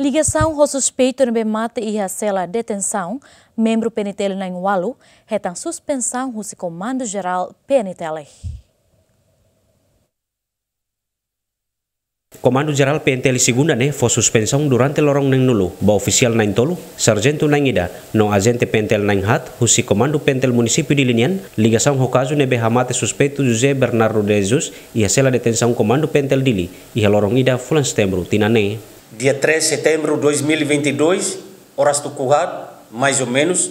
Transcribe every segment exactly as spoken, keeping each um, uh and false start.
Ligasaun ho suspeitu ne'ebé mate iha sela detensaun, membru P N T L na'in-ualu hetan suspensaun husi Komandu Jerál P N T L. Komandu Jerál P N T L Segunda ne'e fó suspensaun durante loron neen-nulu ba ofisiál na'in-tolu, sarjentu na'in-ida, no ajente P N T L na'in-haat husi Komandu P N T L Munisípiu Dili nian, ligasaun ho kazu ne'ebé hamate suspeitu José Bernardo de Jesus iha sela detensaun Komandu P N T L Dili iha loron ida fulan Setembru tinan ne'e. Dia três de setembro de dois mil e vinte e dois, oras tuku haat, mais ou menos,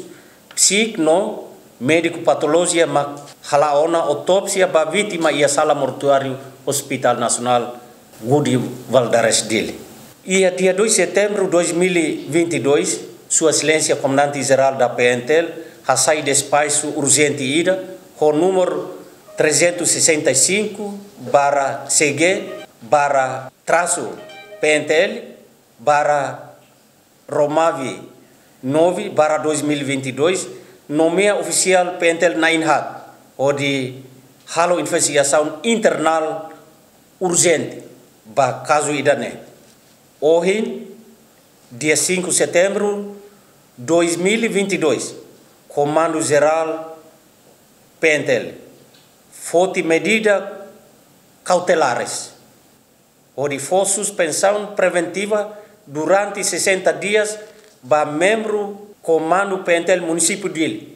psík no médiku patolojia mak hala'o ona autópsia ba vítima iha sala mortuáriu Hospital Nasionál Gude Valadares Dili. Iha dia dois de setembro de dois mil e vinte e dois, Sua Exelénsia Komandante Jerál da P N T L hasai despaxu urjente ida ho númeru trezentos e sessenta e cinco barra C G barra traço P N T L barra Romavi nove barra dois mil e vinte e dois, nomeia ofisiál P N T L na'in-haat hodi halo investigasaun internál urjente ba kazu ida-ne'e. Ohin, dia cinco de setembro de dois mil e vinte e dois, Komandu Jerál P N T L foti medida kautelares hodi fó suspensaun preventiva durante sessenta dias ba membru Komandu P N T L Munisípiu Dili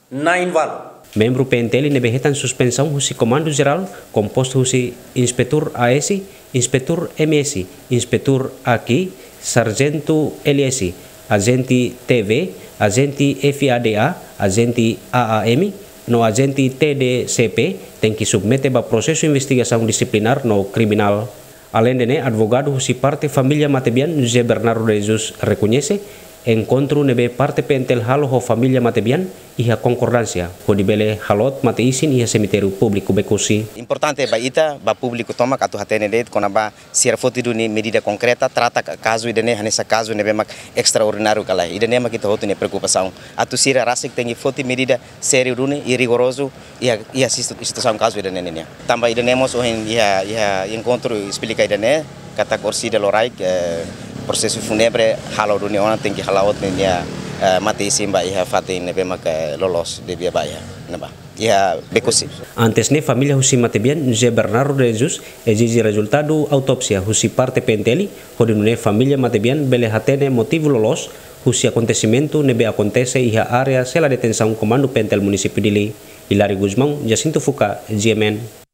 na'in-ualu. Membru P N T L ne'ebé hetan suspensaun husi Komandu Jerál kompostu husi Inspetór A S, Inspetór M S, Inspetór A Q, Sarjentu L S, ajente T V, ajente F A D A, ajente A A M, no ajente T D C P, tenke submete ba prosesu investigasaun disiplinár no kriminál. Aleinde ne'e, advogadu husi parte família matebian José Bernardo de Jesus rekoñese enkontru ne'ebé parte P N T L halo ho família matebian iha konkordánsia, hodi bele haloot mate-isin iha semitériu públiku Bekosi. Importante ba ita, ba públiku tomak atu hatene de'it kona-ba sira foti duni medida konkreta, trata ka-, kazu ida-ne'e hanesan kazu ne'ebé mak estraordináriu ka lae. Ida-ne'e mak ita hotu nia preokupasaun. Atu sira rasik tenke foti medida sériu duni i rigorozu iha, iha situ-, situasaun kazu ida-ne'e nian. Tanba ida-ne'e mós ohin iha, iha enkontru esplika ida-ne'e, katak orsida loraik, eh, prosesu fúnebre halo duni ona tenke hala'o nia, eh, mate-isin ba iha fatin ne'ebé mak, eh, loloos debia ba iha, ne'ebá iha Bekosi. Antes ne'e família husi matebian José Bernardo de Jesus ezije rezultadu autópsia husi parte P N T L, hodi nune'e família matebian bele hatene motivu loloos husi akontesimentu ne'ebé akontese iha área sela detensaun Komandu P N T L Munisípiu Dili. Hilário Gusmão, Jacinto Fuca, G M N.